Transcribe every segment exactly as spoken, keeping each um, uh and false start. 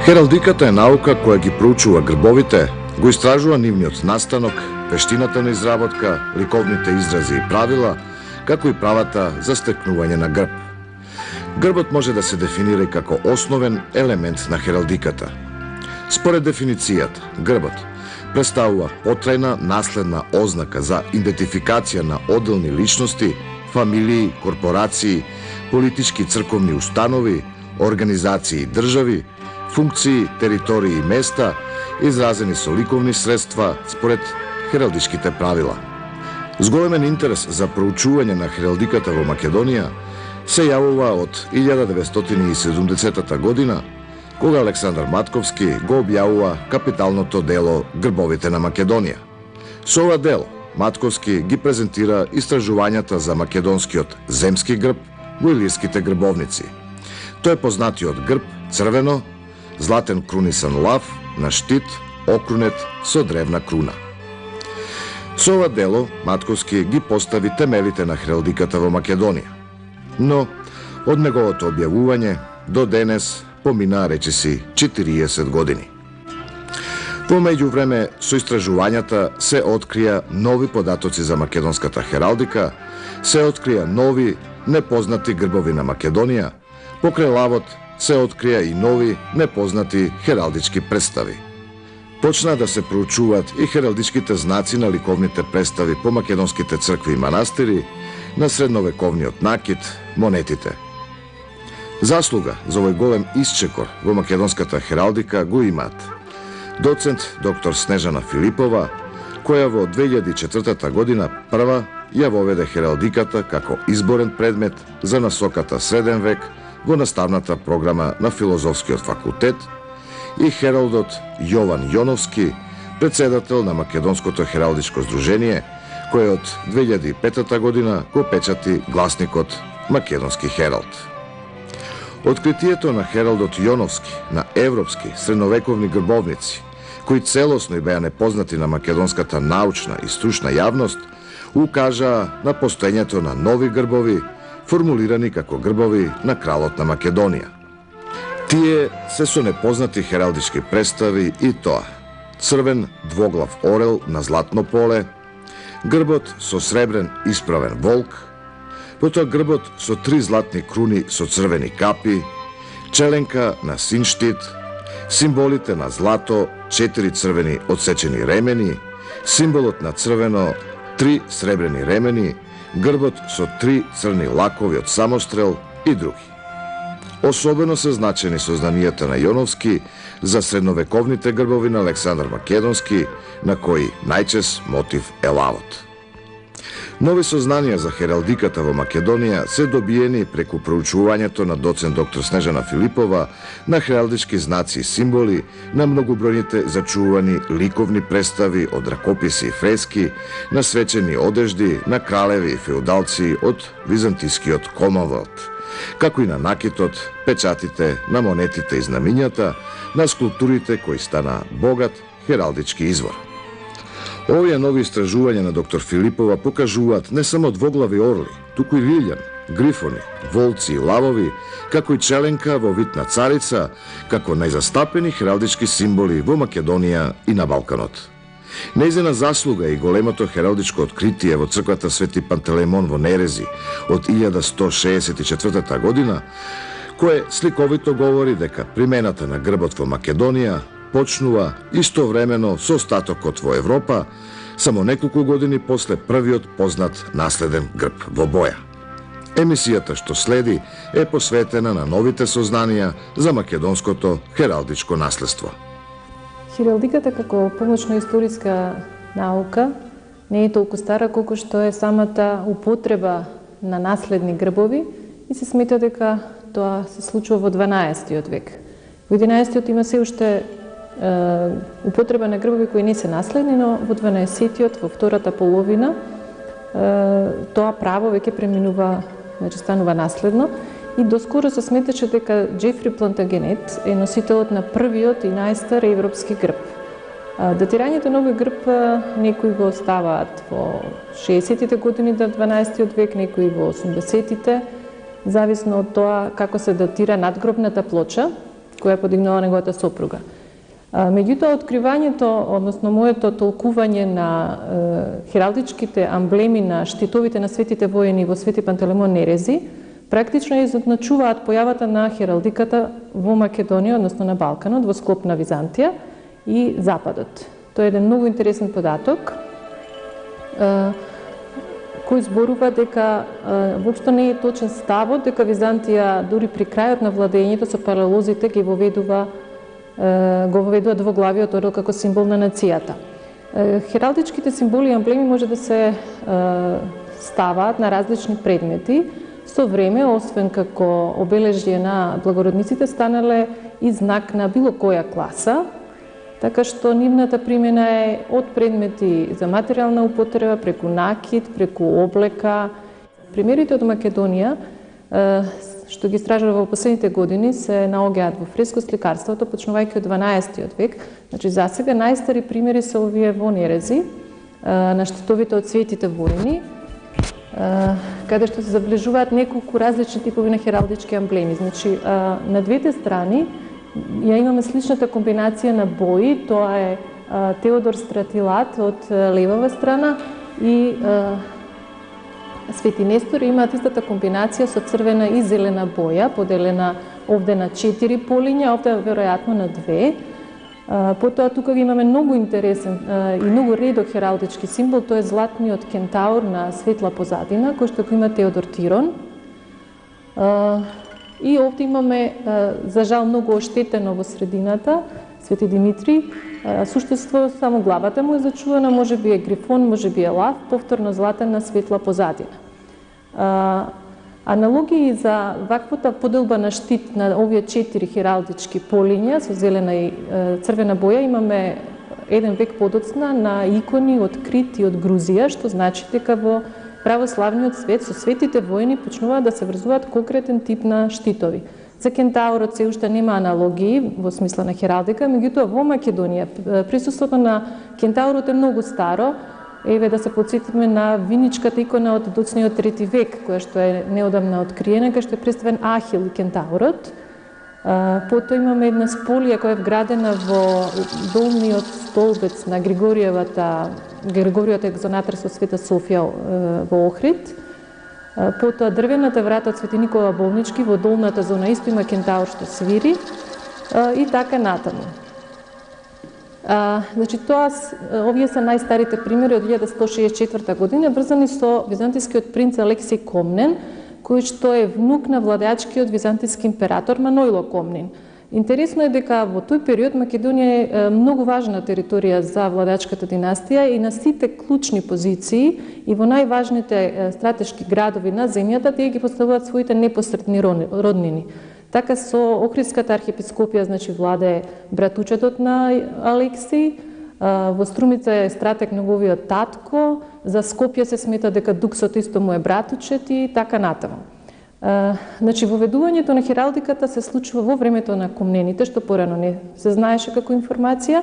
Хералдиката е наука која ги проучува грбовите, го истражува нивниот настанок, вештината на изработка, ликовните изрази и правила, како и правата за стекнување на грб. Грбот може да се дефинира и како основен елемент на хералдиката. Според дефиницијата, грбот представува потрајна наследна ознака за идентификација на одделни личности, фамилии, корпорации, политички и црковни установи, организации и држави, функции, територии и места, изразени со ликовни средства според хералдичките правила. Зголемен интерес за проучување на хералдиката во Македонија се јавува од илјада деветстотини и седумдесетата година, кога Александар Матковски го објавува капиталното дело Грбовите на Македонија. Со ова дело Матковски ги презентира истражувањата за македонскиот земски грб во илирските грбовници. Тој е познатиот грб црвено, златен крунисан лав на штит, окрунет со древна круна. Со ова дело Матковски ги постави темелите на хералдиката во Македонија. Но од неговото објавување до денес поминаа речиси четириесет години. Во меѓувреме со истражувањата се открија нови податоци за македонската хералдика, се открија нови непознати грбови на Македонија, покрај лавот се открија и нови непознати хералдички представи. Почна да се проучуваат и хералдичките знаци на ликовните представи по македонските цркви и манастири, на средновековниот накид, монетите. Заслуга за овој голем исчекор во македонската хералдика го имаат доцент доктор Снежана Филипова, која во две илјади и четвртата година прва ја воведе хералдиката како изборен предмет за насоката среден век во наставната програма на Филозофскиот факултет, и хералдот Јован Јоновски, председател на Македонското хералдичко здружение, кој од две илјади и петата година го печати гласникот Македонски хералд. Откритието на хералдот Јоновски на европски средновековни грбовници, кои целосно и беа непознати на македонската научна и стручна јавност, укажаа на постоењето на нови грбови, формулирани како грбови на кралот на Македонија. Тие се со непознати хералдички представи и тоа: црвен двоглав орел на златно поле, грбот со сребрен исправен волк, потоа грбот со три златни круни со црвени капи, челенка на син штит, символите на злато, четири црвени одсечени ремени, символот на црвено, три сребрени ремени, грбот со три црни лакови од самострел и други. Особено се значени сознанијата на Јоновски за средновековните грбови на Александар Македонски, на кои најчест мотив е лавот. Нови сознанија за хералдиката во Македонија се добиени преку проучувањето на доцент доктор Снежана Филипова на хералдички знаци и символи, на многобројните зачувани ликовни представи од ракописи и фрески, на свечени одежди, на кралеви и феудалци од византискиот Комонвелт, како и на накитот, печатите, на монетите и знамињата, на скулптурите кои стана богат хералдички извор. Овие нови истражувања на доктор Филипова покажуваат не само двоглави орли, туку и лилјан, грифони, волци и лавови, како и челенка во вид на царица, како најзастапени хералдички символи во Македонија и на Балканот. Нејзина заслуга и големото хералдичко откритие во црквата Свети Пантелеймон во Нерези од илјада сто шеесет и четвртата година, кое сликовито говори дека примената на грбот во Македонија почнува истовремено со остатокот во Европа, само неколку години после првиот познат наследен грб во боја. Емисијата што следи е посветена на новите сознанија за македонското хералдичко наследство. Хералдиката како помошна историска наука не е толку стара колку што е самата употреба на наследни грбови и се смета дека тоа се случува во дванаесеттиот век. Во единаесеттиот има се уште е, употреба на грбови кои не се наследни, но во дванаесеттиот, во втората половина, е, тоа право веќе преминува, значи станува наследно. И доскоро се сметаше дека Джефри Плантагенет е носителот на првиот и најстар европски грб. Датирањето на овој грб некои го оставаат во шеесеттите години на дванаесеттиот век, некои во осумдесеттите, зависно од тоа како се датира надгробната плоча која подигнала неговата сопруга. Меѓутоа, откривањето, односно моето толкување на е, хералдичките амблеми на штитовите на светите војни во Свети Пантелеймон Нерези, практично изозначуваат појавата на хералдиката во Македонија, односно на Балканот, во склоп на Византија и Западот. Тоа е еден многу интересен податок, е, кој зборува дека е, воопшто не е точен ставот дека Византија дури при крајот на владењето со паралозите ги воведува го воведува двоглавиот орел како символ на нацијата. Хералдичките символи и амблеми може да се ставаат на различни предмети. Со време, освен како обележје на благородниците, станале и знак на било која класа, така што нивната примена е од предмети за материјална употреба, преку накид, преку облека. Примерите од Македонија што ги истражува во последните години се наоѓаат во фреско-сликарството, почнувајќи од дванаесеттиот век. Значи, засега најстари примери се овие во Нерези, на штитовите од светите војни, каде што се заближуваат неколку различни типови на хералдички амблеми. Значи, на двете страни ја имаме сличната комбинација на бои, тоа е Теодор Стратилат од левава страна и Свети Нестор имаат истата комбинација со црвена и зелена боја, поделена овде на четири полиња, овде веројатно на две. Потоа тука имаме многу интересен и многу редок хералдички символ, тоа е златниот кентаур на светла позадина, кој што го има Теодор Тирон. И овде имаме, за жал, многу оштетено во средината, Свети Димитри. Суштество само главата му е зачувана, може би е грифон, може би е лав, повторно златен на светла позадина. Аналогии за ваквата поделба на штит на овие четири хералдички полиња со зелена и црвена боја имаме еден век подоцна на икони од Крит и од Грузија, што значи дека во православниот свет со светите војни почнуваат да се врзуваат конкретен тип на штитови. За кентаурот се уште нема аналогии во смисла на хералдика, меѓутоа во Македонија присуството на кентаурот е многу старо. Еве да се потсетиме на виничката икона од доцниот трети век, која што е неодамна откриена, кај што е представен Ахил и кентаурот. Потоа имаме една сполија која е вградена во долниот столбец на Григориевата Григоријата екзонатар со Света Софија во Охрид. Потоа дрвената врата од Свети Никола Болнички во долната зона исто има кентаур што свири и така натаму. А, значи тоа овие се најстарите примери од илјада сто шеесет и четврта година, врзани со византискиот принц Алексиј Комнен, кој што е внук на владеачкиот византиски император Манойло Комнин. Интересно е дека во тој период Македонија е многу важна територија за владеачката династија и на сите клучни позиции и во најважните стратешки градови на земјата тие ги поставуваат своите непосредни роднини. Така со Охридската архиепископија, значи владее братучетот на Алексиј, во Струмица е стратег неговиот татко, за Скопје се смета дека Дуксот исто му е братучет и така натаму. Значи, воведувањето на хералдиката се случува во времето на комнените, што порано не се знаеше како информација.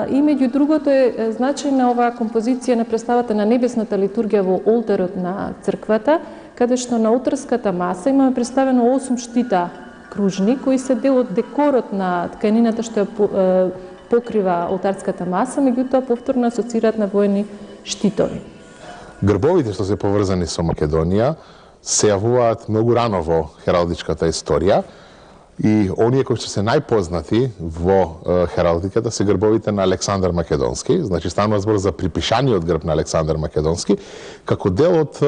И меѓу другото е значајна оваа композиција на представата на небесната литургија во олтарот на црквата, каде што на олтарската маса имаме представено осум штита кружни, кои се дел од декорот на тканината што ја покрива олтарската маса, меѓутоа повторно асоцираат на воени штитови. Грбовите што се поврзани со Македонија се јавуваат многу рано во хералдичката историја И оние кои што се најпознати во хералдиката се грбовите на Александар Македонски, значи станува збор за припишаниот грб на Александар Македонски, како дел од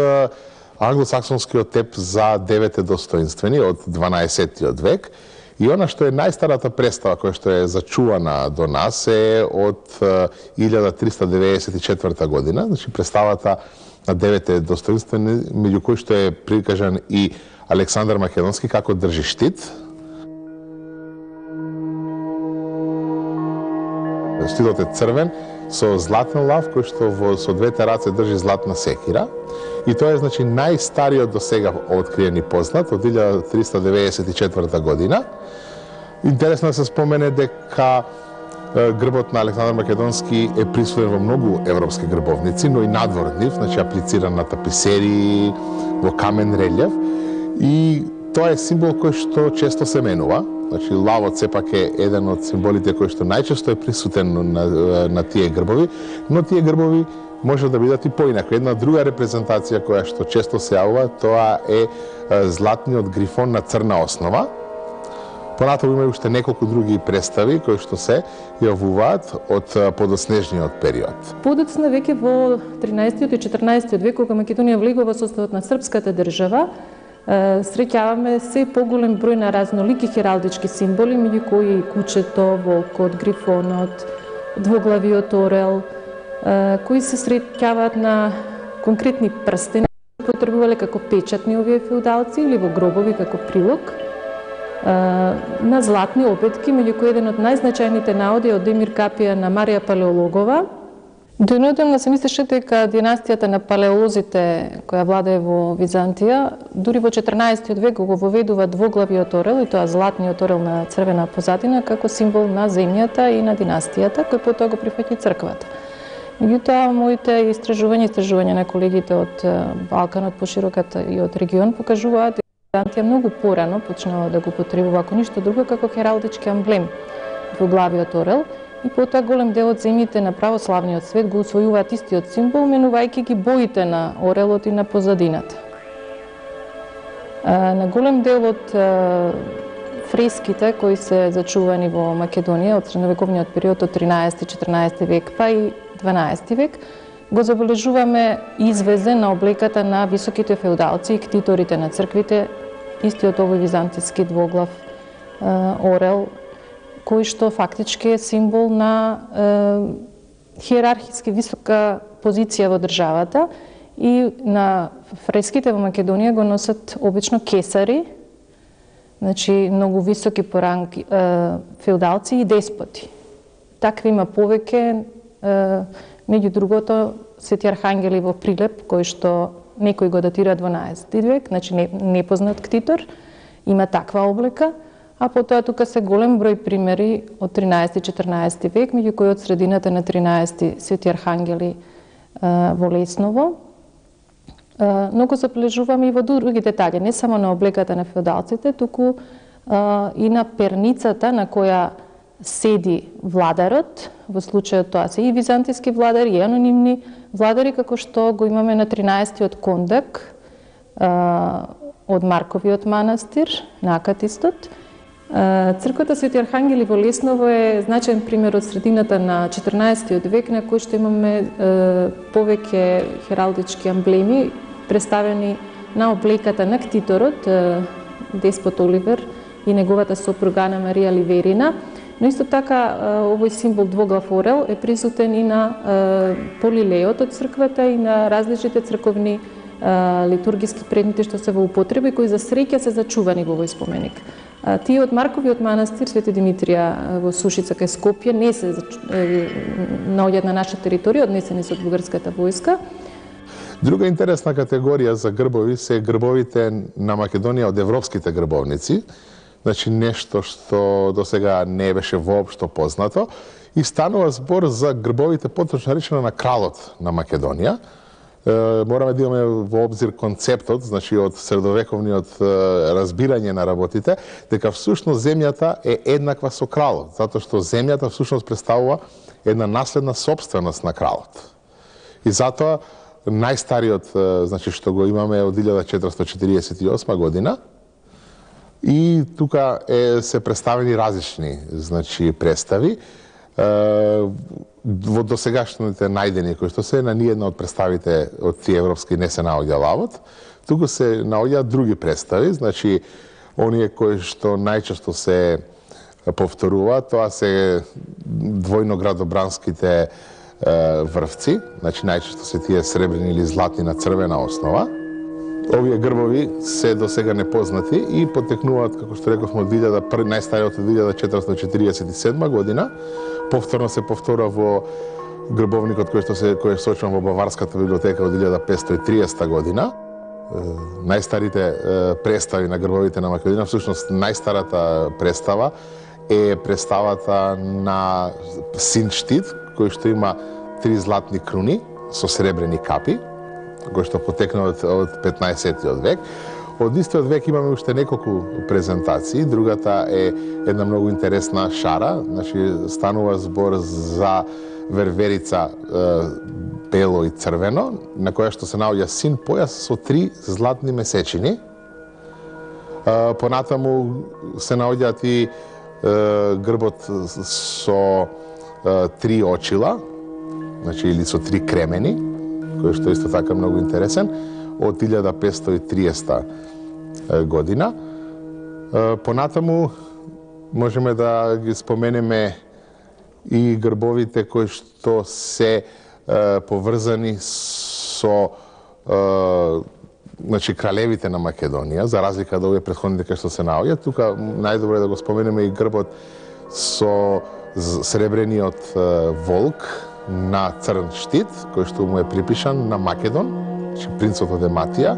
англосаксонскиот теп за девете достоинствени од дванаесеттиот век. И она што е најстарата представа која што е зачувана до нас е од илјада триста деветдесет и четврта година, значи представата на девете достоинствени, меѓу кои што е прикажан и Александар Македонски како држи штит. Штитот е црвен со златен лав кој што во со двете раце држи златна секира. И тоа е значи најстариот до сега откриен и познат од илјада триста деветдесет и четврта година. Интересно да се спомене дека грбот на Александар Македонски е присутен во многу европски грбовници, но и надвор нив, значи аплициран на таписерии, во камен релјеф. И тоа е символ кој што често се менува. Значи, лавот сепак е еден од символите кој што најчесто е присутен на, на тие грбови, но тие грбови може да бидат и поинако. Една друга репрезентација која што често се јавува, тоа е златниот грифон на црна основа. Понатаму има уште неколку други представи кои што се јавуваат од подоснежниот период. Подоцна веќе во тринаесеттиот и четрнаесеттиот век, кога Македонија влегува во составот на српската држава, среќаваме се поголем број на разнолики хералдички символи, меѓу кои и кучето, волкот, грифонот, двоглавиот орел, кои се среќаваат на конкретни прстени, потребувале како печатни овие феудалци или во гробови како прилог, на златни опетки, меѓу кои еден од најзначајните наоди од Емир Капија на Марија Палеологова. Дојнодемно се мислеше дека династијата на палеолозите која владее во Византија, дури во четрнаесеттиот век го воведува двоглавиот орел, и тоа златниот орел на црвена позадина, како символ на земјата и на династијата, кој потоа го прифаќа црквата. Меѓутоа, моите истражувања, истражувања на колегите од Балканот, пошироката и од регион, покажуваат дека Византија многу порано почнала да го потребува, ако ништо друго, како хералдички амблем двоглавиот орел, и потоа голем дел од земјите на православниот свет го усвојуваат истиот символ, менувајќи ги боите на орелот и на позадината. На голем дел од фреските кои се зачувани во Македонија од средновековниот период од тринаесети и четрнаесети век, па и дванаесети век, го забележуваме извезе на облеката на високите феудалци и ктиторите на црквите, истиот овој византиски двоглав орел, кој што фактички е символ на е, хиерархиски висока позиција во државата, и на фреските во Македонија го носат обично кесари, значи многу високи по ранг е, феудалци и деспоти. Такви има повеќе, е, меѓу другото Свети Архангели во Прилеп, кој што некој го датира дванаесети век, значи не, непознат ктитор, има таква облека. А потоа тука се голем број примери од тринаесети и четрнаесети век, меѓу кои од средината на тринаесети Свети Архангели а, во Лесново. А, но го забележуваме и во други детали, не само на облеката на феудалците, туку а, и на перницата на која седи владарот, во случајот тоа се и византиски владари, и анонимни владари, како што го имаме на тринаесеттиот кондак а, од Марковиот манастир на Акатистот. Црквата Свети Архангели во Лесново е значаен пример од средината на четрнаесеттиот век, на кој што имаме е, повеќе хералдички амблеми представени на облеката на ктиторот, е, деспот Оливер и неговата сопруга Ана Марија Ливерина. Но исто така овој символ двоглав орел е присутен и на е, полилеот од црквата и на различните црковни литургиски предмети што се во употреба и кои за среќа се зачувани во овој споменик. Тие од Марковиот манастир Свети Димитрија во Сушица кај Скопје не се наоѓаат на наша територија, однесени се од бугарската војска. Друга интересна категорија за грбови се грбовите на Македонија од европските грбовници, значи нешто што до сега не беше воопшто познато, и станува збор за грбовите поточно наречено на кралот на Македонија. Мораме да имаме во обзир концептот, значи од средовековниот разбирање на работите, дека всушност земјата е еднаква со кралот, затоа што земјата всушност представува една наследна собственост на кралот. И затоа најстариот, значи што го имаме од илјада четиристотини четиридесет и осма година, И тука е, се представени различни, значи, представи. Во досегашните најдени кои што се на ниедна од представите од тие европски не се наоѓа лавот, туку се наоѓаат други представи, значи оние кои што најчесто се повторуваат, тоа се двојноградобранските врвци, значи најчесто се тие сребрени или златни на црвена основа. Овие грбови се до сега непознати и потекнуваат, како што рековме, од најстариот од илјада четиристотини четиридесет и седма година. Повторно се повтора во грбовникот кој што се кој е сочен во Баварската библиотека од илјада петстотини и триесета година. Најстарите представи на грбовите на Македонија, всушност најстарата представа е представата на син штит, кој што има три златни круни со сребрени капи, кој што потекна од, од петнаесеттиот век. Од истиот век имаме уште неколку презентации. Другата е една многу интересна шара, значи станува збор за верверица е, бело и црвено, на која што се наоѓа син појас со три златни месечини. Е, понатаму се наоѓаат и е, грбот со е, три очила, значи или со три кремени, кој што исто така многу интересен, од илјада петстотини и триесета година. Понатаму можеме да ги споменеме и грбовите кои што се поврзани со значи кралевите на Македонија, за разлика од овие претходните кои што се наоѓаат. Тука најдобро е да го споменеме и грбот со сребрениот волк на црн штит, кој што му е припишан на Македон, значи принцот од Ематија,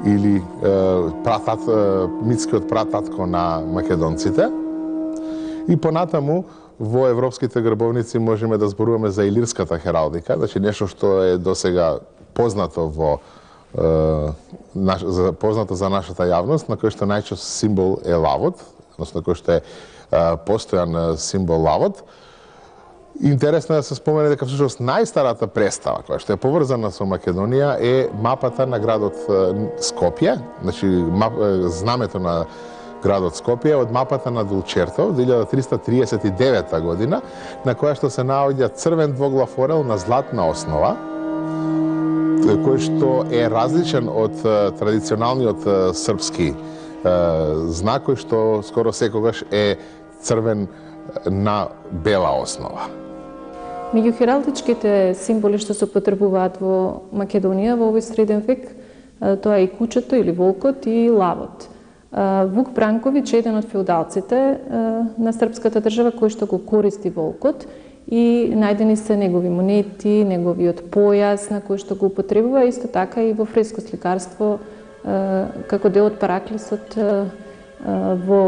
или е, пратат, е, митскиот прататко на македонците. И понатаму, во европските грбовници можеме да зборуваме за илирската хералдика, значи нешто што е досега познато во е, наш, за, познато за нашата јавност, на кој што најчесто символ е лавот, односно кој што е, е постојан символ лавот. Интересно е да се спомене дека всушност најстарата представа која што е поврзана со Македонија е мапата на градот Скопје, значи мап, знамето на градот Скопје од мапата на Дулчерто од илјада триста триесет и девета година, на која што се наоѓа црвен двоглав орел на златна основа, кој што е различен од традиционалниот српски знак, кој што скоро секогаш е црвен на бела основа. Меѓу хералдичките символи што се употребуваат во Македонија во овој среден век, тоа е и кучето или волкот и лавот. Вук Бранковиќ е еден од феудалците на српската држава кој што го користи волкот и најдени се негови монети, неговиот појас на кој што го употребува, исто така и во фреско сликарство како дел од Параклисот во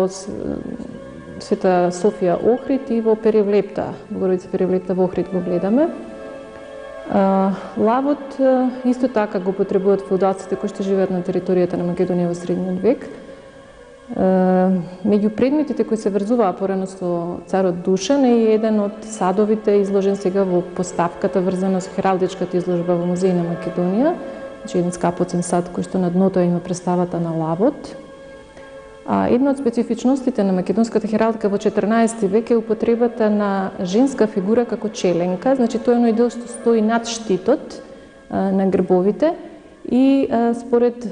Света Софија Охрид и во Перевлепта, Богородица Перевлепта во Охрид го гледаме. Лавот исто така го потребуваат феудалците кои што живеат на територијата на Македонија во средниот век. Меѓу предметите кои се врзуваа порано со царот Душан е еден од садовите изложен сега во поставката врзана со хералдичката изложба во Музеј на Македонија, значи еден скапоцен сад кој што на дното има представата на лавот. А една од специфичностите на македонската хералдика во четрнаесети век е употребата на женска фигура како челенка, значи тоа е оној дел што стои над штитот а, на грбовите и а, според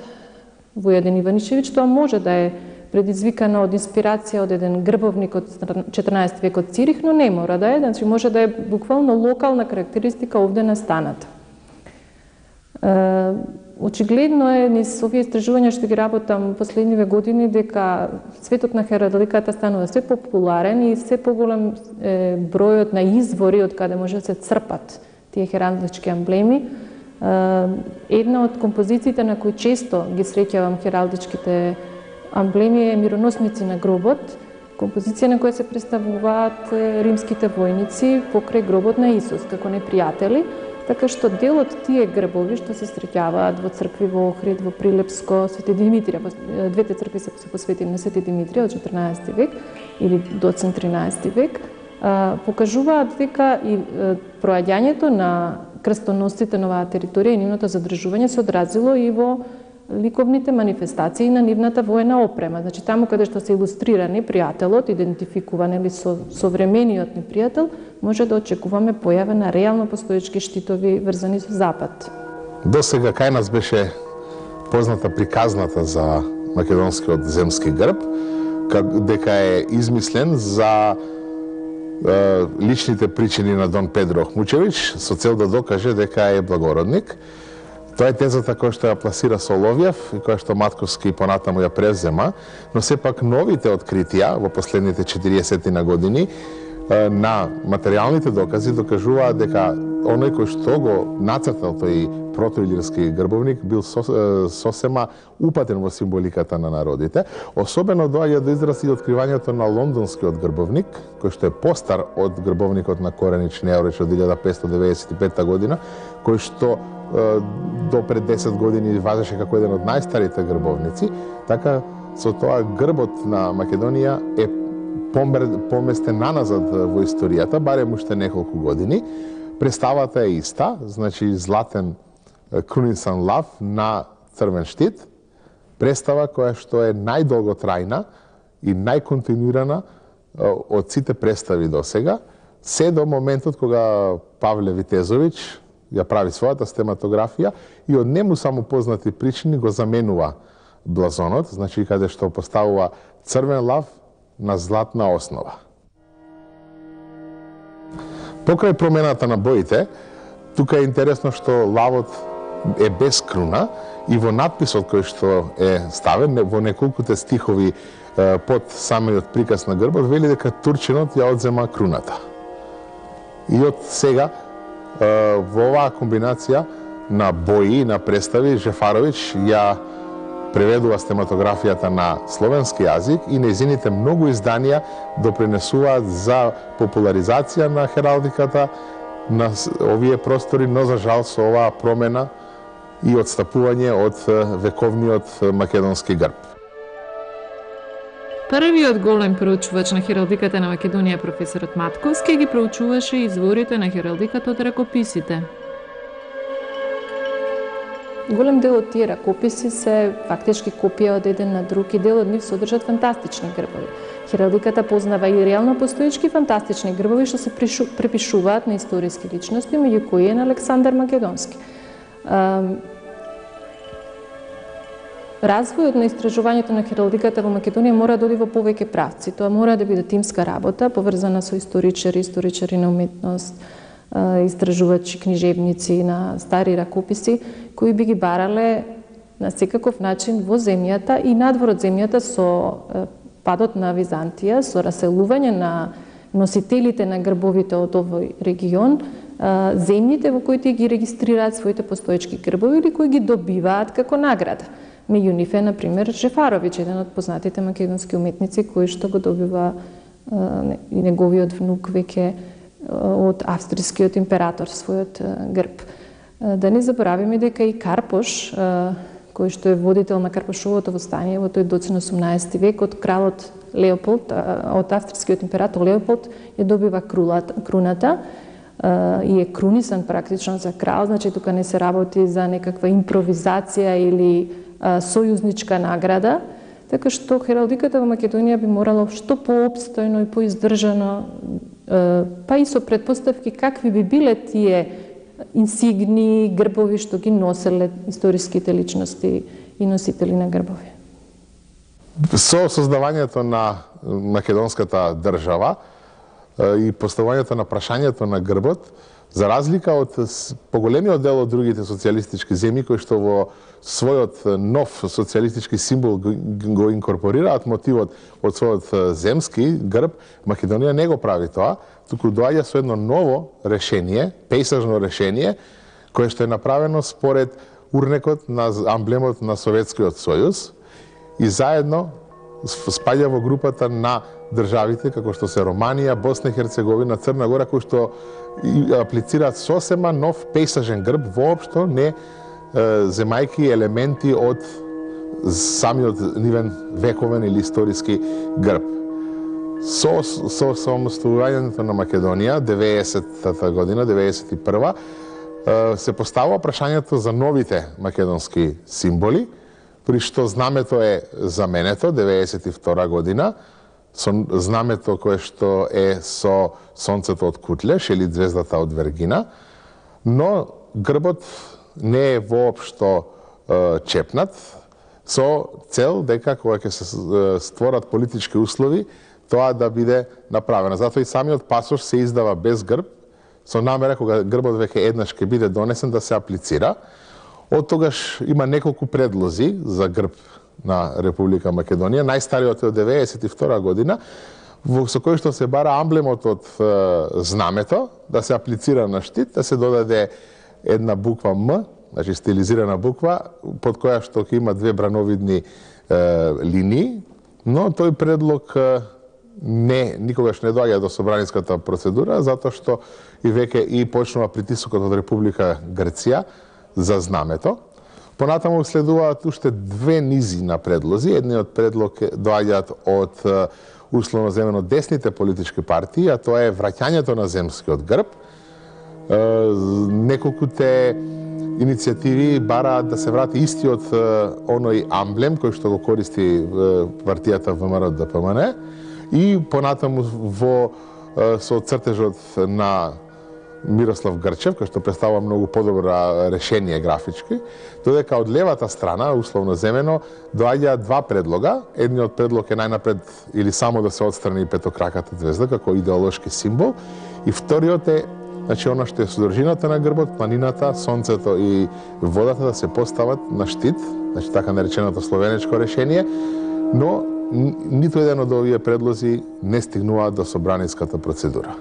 Војадин Иванишевиќ тоа може да е предизвикано од инспирација од еден грбовник од четрнаесети век од Цирих, но не мора да е, значи може да е буквално локална карактеристика овде настаната. Очигледно е низ овие истражувања што ги работам последниве години дека светот на хералдиката станува се популарен и се поголем е, бројот на извори од каде може да се црпат тие хералдички емблеми. Една од композициите на кои често ги среќавам хералдичките емблеми е Мироносници на гробот, композиција на која се представуваат римските војници покрај гробот на Исус како непријатели. Така што дел од тие грбови што се среќаваат во цркви во Охрид, во Прилепско, Свети Димитрија, двете цркви се посветени на Свети Димитрија од четрнаесети век или до тринаесети век, покажуваат дека и проаѓањето на крстоносците на оваа територија и нивното задржување се одразило и во ликовните манифестации на нивната воена опрема. Значи, таму каде што се илустрира непријателот, идентификуван или со современиот непријател, може да очекуваме појава на реално постоечки штитови врзани со Запад. До сега кај нас беше позната приказната за македонскиот земски грб, дека е измислен за е, личните причини на Дон Педро Охмучевич со цел да докаже дека е благородник. Тоа е тезата која што ја пласира Соловјев и која што Матковски понатаму ја превзема, но сепак новите откритија во последните четириесет на години на материјалните докази докажуваат дека оној кој што го нацртал тој протоилирски грбовник бил сосема упатен во символиката на народите. Особено доаѓа до израз и откривањето на лондонскиот грбовник, кој што е постар од грбовникот на Коренич Неорич од илјада петстотини деведесет и петта година, кој што до пред десет години важеше како еден од најстарите грбовници. Така, со тоа грбот на Македонија е поместен наназад во историјата, барем уште неколку години. Представата е иста, значи златен крунисан лав на црвен штит, представа која што е најдолготрајна и најконтинуирана од сите представи до сега, се до моментот кога Павле Витезович ја прави својата стематографија и од нему само познати причини го заменува блазонот, значи каде што поставува црвен лав на златна основа. Покрај промената на боите, тука е интересно што лавот е без круна и во надписот кој што е ставен во неколкуте стихови под самиот приказ на грбот вели дека турчинот ја одзема круната. И од сега во оваа комбинација на бои и на представи Жефарович ја преведува стематографијата на словенски јазик и нејзините многу изданија допринесуваат за популаризација на хералдиката на овие простори, но за жал со оваа промена и отстапување од вековниот македонски грб. Првиот голем проучувач на хералдиката на Македонија, професорот Матковски, ги проучуваше изворите на хералдиката од ракописите. Голем дел од тие ракописи се фактички копија од еден на друг и дел од нив содржат фантастични грбови. Хералдиката познава и реално постоечки фантастични грбови што се препишуваат на историски личности, меѓу кои е на Александар Македонски. Развојот на истражувањето на хералдиката во Македонија мора да оди во повеќе правци. Тоа мора да биде тимска работа, поврзана со историчари, историчари на уметност, истражувачи, книжевници на стари ракописи, кои би ги барале на секаков начин во земјата и надвор од земјата со падот на Византија, со раселување на носителите на грбовите од овој регион, земјите во кои тие ги регистрираат своите постоечки грбови или кои ги добиваат како награда. Меѓу нив е, например, Жефарович, еден од познатите македонски уметници, кој што го добива и неговиот внук веќе од австрискиот император својот грб. Да не заборавиме дека и Карпош, кој што е водител на Карпошовото востание во тој доцен осумнаесети век, од кралот Леополд, од австрискиот император Леополд, ја добива круната и е крунисан практично за крал, значи тука не се работи за некаква импровизација или сојузничка награда, така што хералдиката во Македонија би морала што поопстојно и поиздржано, па и со предпоставки какви би биле тие инсигни грбови што ги носеле историските личности и носители на грбови. Со создавањето на македонската држава и поставувањето на прашањето на грбот, за разлика од поголемиот дел од другите социјалистички земји кои што во својот нов социјалистички символ го инкорпорираат мотивот од својот земски грб, Македонија не го прави тоа, туку доаѓа со едно ново решение, пейсажно решение, кое што е направено според урнекот на амблемот на Советскиот сојуз и заедно спаѓа во групата на државите како што се Романија, Босна и Херцеговина, Црна Гора, кои што аплицираат сосема нов пейсажен грб, воопшто не земајки елементи од самиот нивен вековен или историски грб. Со, со самостојувањето на Македонија, деветдесетата година, деветдесет и прва, се поставува прашањето за новите македонски символи, при што знамето е заменето деветдесет и втора година, со знамето кое што е со сонцето од Кутлеш или звездата од Вергина, но грбот не е воопшто е, чепнат, со цел дека кога ќе се створат политички услови, тоа да биде направено. Затоа и самиот пасош се издава без грб, со намера кога грбот веќе еднаш ќе биде донесен да се аплицира. Од тогаш има неколку предлози за грб на Република Македонија. Најстариот е од деветдесет и втора година, со кој што се бара амблемот од е, знамето, да се аплицира на штит, да се додаде една буква М, значи стилизирана буква, под која што ќе има две брановидни е, линии, но тој предлог е, не, никогаш не доаѓа до собраниската процедура, затоа што и веќе и почнува притисокот од Република Грција за знамето. Понатаму следуваат уште две низи на предлози. Едниот предлог доаѓаат од условно земено десните политички партии, а тоа е враќањето на земскиот грб. Неколкуте иницијативи бараат да се врати истиот оној амблем кој што го користи партијата ВМРО Д П М Н и понатаму во со цртежот на Мирослав Грчев, кој што представува многу подобро решение графички, додека од левата страна, условно земено, доаѓа два предлога. Едниот предлог е најнапред или само да се отстрани петокраката звезда како идеолошки символ, и вториот е, значи, она што е содржината на грбот, планината, сонцето и водата да се постават на штит, значи така нареченото словенечко решение, но ниту еден од овие предлози не стигнуваат до собраниската процедура.